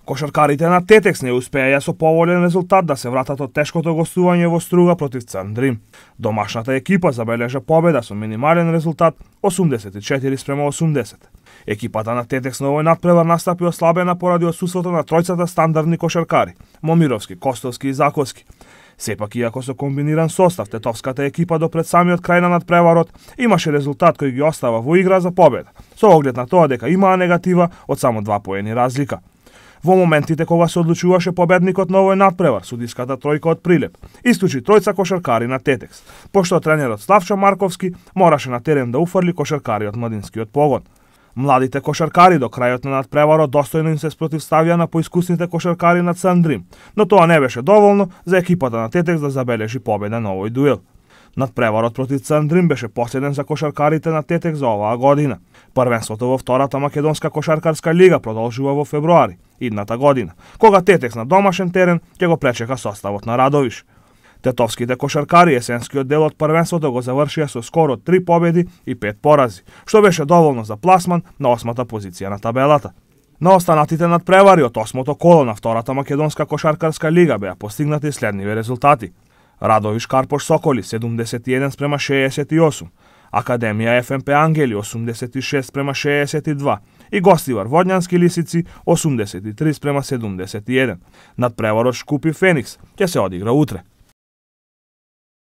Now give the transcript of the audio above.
Кошаркарите на Тетекс не успеа со поволен резултат да се вратат од тешкото гостување во Струга против Црн Дрим. Домашната екипа забележа победа со минимален резултат 84-80. Екипата на Тетекс на овој надпревар настапи ослабена поради отсуството на тројцата стандардни кошаркари – Момировски, Костовски и Заковски. Сепак, иако со комбиниран состав, тетовската екипа до пред самиот крај на надпреварот имаше резултат кој ги остава во игра за победа, со оглед на тоа дека имаа негатива од само 2 поени разлика. Во моментите кога се одлучуваше победникот на овој надпревар, судиската тројка од Прилеп исклучи тројца кошаркари на Тетекс, пошто тренерот Славчо Марковски мораше на терен да уфрли кошаркари од младинскиот погон. Младите кошаркари до крајот на надпреварот достојно им се спротивставија на поискусните кошаркари на Црн Дрим, но тоа не беше доволно за екипата на Тетекс да забележи победа на овој дуел. Надпреварот против Црн Дрим беше последен за кошаркарите на Тетекс за оваа година. Првенството во втората македонска кошаркарска лига продолжува во февруари идната година, кога Тетекс на домашен терен ќе го пречека составот на Радовиш. Тетовските кошаркари есенскиот дел од првенството го завршија со скоро 3 победи и 5 порази, што беше доволно за пласман на 8-та позиција на табелата. На останатите надпревари од 8-то коло на втората македонска кошаркарска лига беа постигнати следниве резултати. Радовиш Карпош Соколи 71-68, Академија ФМП Ангели 86-62 и Гостивар Водњански Лисици 83-71. Надпреварот Шкупи Феникс ќе се одигра утре.